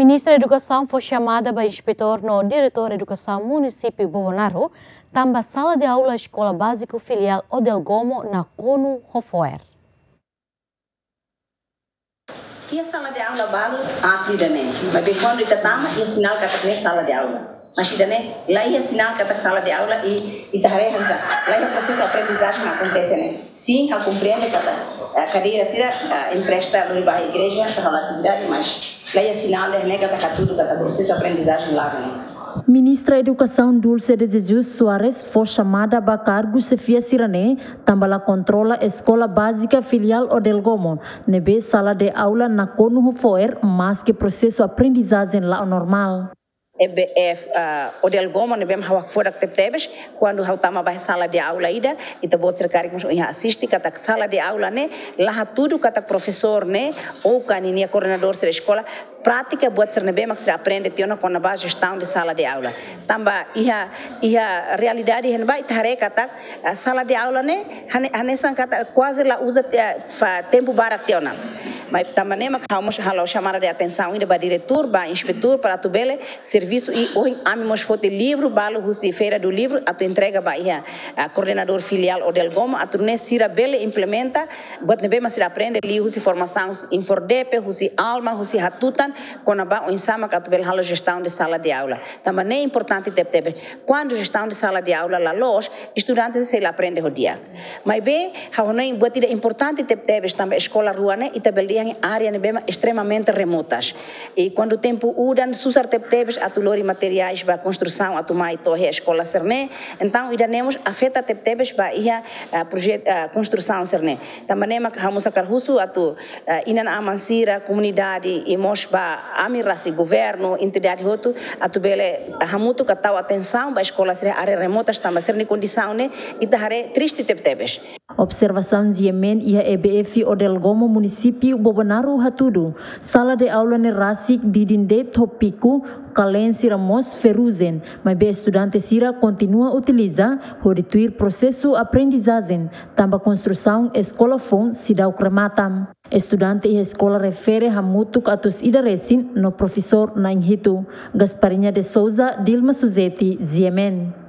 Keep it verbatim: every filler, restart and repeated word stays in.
Ministra Edukasaun fó xamada ba inspetór no diretór edukasaun munisípiu Bobonaro, tanba sala de aula Eskola Báziku Filiál Odel Gomo nakonu ho fo'er. Iha sala de aula balu aat ida-ne'e. Maibé kuandu ita tama, iha sinál katak ne'e sala de aula. Mas ida-ne'e, la iha sinál katak sala de aula i, ita haree hanesan la iha prosesu aprendizajen akontese ne'e. Sin, ha'u komprende katak, eh, kadeira sira, eh, empresta lori ba igreja, para halo atividade, mas la iha sinál ida-ne'e katak hatudu katak prosesu aprendizajen la'o ne'e. Ministra Edukasaun Dulce de Jesus Soares fó xamada ba kargu xefia sira-ne'e, tanba la kontrola Eskola Bázika Filiál Odel Gomo, ne'ebé sala de aula nakonu ho fo'er, maske prosesu aprendizajen la'o normál. E B F, ah, Odel Gomo ne'ebé mak ha'u hakfodak tebetebes, kuandu ha'u tama ba sala de aula ida, ita-boot sira karik mós ohin asiste katak sala de aula ne'e, la hatudu katak profesór ne'e, ou ka ninia koordenadór sira eskola, prátika buat sira ne'ebé mak sira aprende tiha ona kona-ba jestaun de sala de aula. Tanba iha, iha realidade iha ne'ebá ita haree katak, ah, sala de aula ne'e, hane-, hanesan katak kuaze la uza tiha, ah, fa tempu barak tiha ona. Mas tanba ne'e mak ha'u mós halo xamada de atensaun ida ba diretór, ba inspetór, para atu bele servisu i ohin ami mós foti livru balu husi Feira do Livro atu entrega ba iha, ah, koordenadór filiál Odel Gomo, atu nune'e sira bele implementa buat ne'ebé mak sira aprende liuhusi formasaun INFORDEPE, husi ALMA, husi Hatutan, kona-ba oinsá mak atu bele halo jestaun de sala de aula. Tanba ne'e importante tebetebes. Kuandu jestaun de sala de aula la loos, estudante sei la aprende ho di'ak. Maibé, ha'u hanoin buat ida importante tebetebes tanba eskola rua ne'e, ita bele dehan área ne'ebé mak extremamente remotas. I kuandu tempu udan, susar tebetebes atu lori materiais ba konstrusaun atu mai to'o iha eskola sira-ne'e. Entaun, ida-ne'e mós afeta tebetebes ba iha, ah, projetu, ah, konstrusaun sira-ne'e. Tanba ne'e mak ha'u mós hakarak husu atu, ah, inan-aman sira, komunidade, i mós ba ami rasik governu, entidade hotu, atu bele, ah, hamutuk ka tau atensaun ba eskola sira área remotas tanba sira-nia kondisaun ne'e, ita haree triste tebetebes. Observasaun GMN iha E B F Odel Gomo munisípiu Bobonaro hatudu, sala de aula ne'e rasik didin de'it ho piku, kalen sira mós ferrujen, maibé estudante sira kontinua utiliza hodi tuir prosesu aprendizajen, tanba konstrusaun eskola foun seidauk remata. Estudante iha eskola refere hamutuk atus ida resin no profesór na'in hitu. Gasparinha de Souza, Dilma Suzeti, GMN.